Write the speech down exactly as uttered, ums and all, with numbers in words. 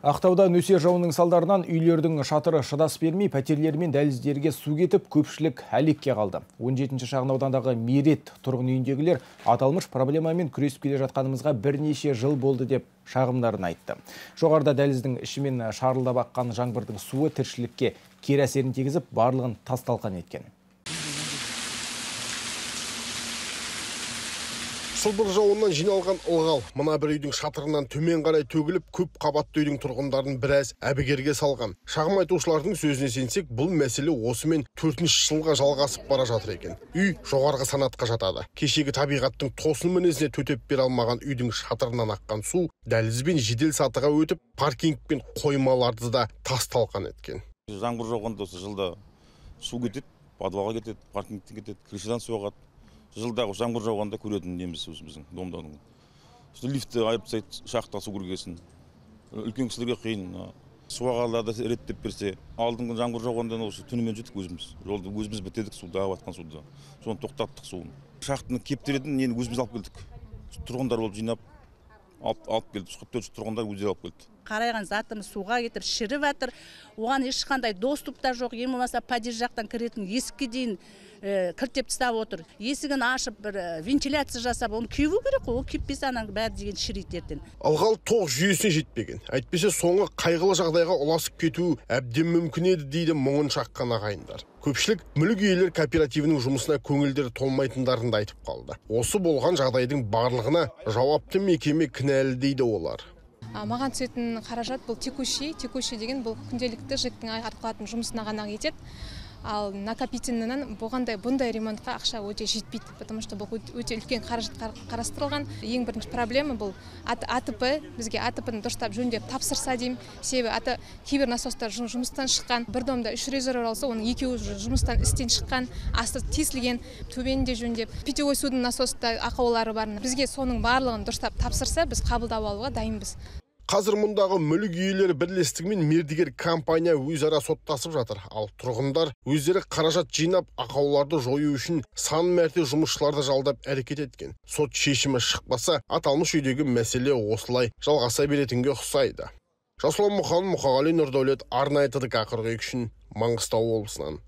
Ақтауда нөсер жауынның салдарынан үйлердің шатыры шыдас бермей, пәтерлер мен дәліздерге су кетіп, көпшілік әлекке қалды. он жетінші шағын аудандағы Мерет тұрғын үйіндегілер аталмыш проблемамен күресіп келе жатқанымызға бірнеше жыл болды деп шағымдарын айтты. Жоғарыда дәліздің ішімен шарылдап аққан жаңбырдың суы тіршілікке кері әсерін тигізіп, барлығын тас-талқан еткен. Сылбыр жауыннан жиналған ылғал мына бір үйдің шатырынан төмен қарай төгіліп, көп қабатты үйдің тұрғындарын біраз әбігерге салған. Шағым айтушылардың сөзіне сенсек, бұл мәселе осымен төртінші жылға жалғасып бара жатыр екен. Үй жоғарғы санатқа жатады. Кешегі табиғаттың тосын мінезіне төтеп бере алмаған үйдің шатырынан аққан су дәлізбен жедел сатыға өтіп, паркинг пен қоймаларды да тас-талқан еткен. Жаңбыр жауғанда осы жылда су кетеді, подвалға кетеді, паркингтен кетеді, крышадан су ағады. Жылдағы жаңбыр жауғанда көретін неміз өзіміздің домданың. Лифтті айып тастайды, шақта су кіргесін. Үлкен кісілерге қиын. Су ағаларды реттеп берсе, алдыңғы жаңбыр жауғанда осы түнімен жеттік өзіміз. Жолды өзіміз бітедік суда, ағып суда. Соны тоқтаттық суын. Шақтың кептеретін нені өзіміз алып келдік. Тұрғындар болып жинап алып келді. Құтты тұрғындар өздері алып келді. Қарайған затымыз суға кетір, шіріп жатыр. Оған ешқандай доступ та жоқ. Ең болмаса подъезд жақтан кіретін есікке дейін кіртеп тастап отыр. Есігін ашып, бір вентиляция жасап, оны кеуу керек қой. Ол кеппесе анаң бәрі деген шірейді ертең. Ылғал тоқ жүйесіне жетпеген. Әйтпесе соңы қайғылы жағдайға ұласып кетуі әбден мүмкін еді дейді мұңын шаққан ағайындар. Көпшілік мүлік иелер кооперативінің жұмысына көңілдері толмайтындарын да айтып қалды. Осы болған жағдайдың барлығына жауапты мекеме кінәлі дейді олар. Маған түсетін қаражат бұл текущий, текущий деген бұл күнделікті жіттің атқылатын жұмысына ғана кетеді. Ал накопительнынан болғандай бұндай ремонтқа ақша өте жетпейді, потому что бұл өте үлкен қаражат қарастырылған. Ең бірінші проблема бұл АТП, бізге АТП-ны дұрыстап жөндеп тапсырса деймін. Себебі кейбір насостар жұмыстан шыққан, бір домда үш резервуар алса, оның екеуі жұмыстан істен шыққан, асты тесілген, төбенде жөндеп, питьевой судың насоста ақаулары бар. Бізге соның барлығын дұрыстап тапсырса, біз қабылдап алуға дайынбыз. Қазір мұндағы мүлік иелері бірлестігімен мердігер компания өзара соттасып жатыр. Ал тұрғындар өздері қаражат жинап, ақауларды жою үшін сан мәрте жұмысшыларды жалдап әрекет еткен. Сот шешімі шықпаса, аталмыш үйдегі мәселе осылай жалғаса беретінге ұқсайды. Жасұлан Мұқан, Мұқағали Нұрдәулет, арнайы Т Д К қырық екі үшін Маңғыстау облысынан.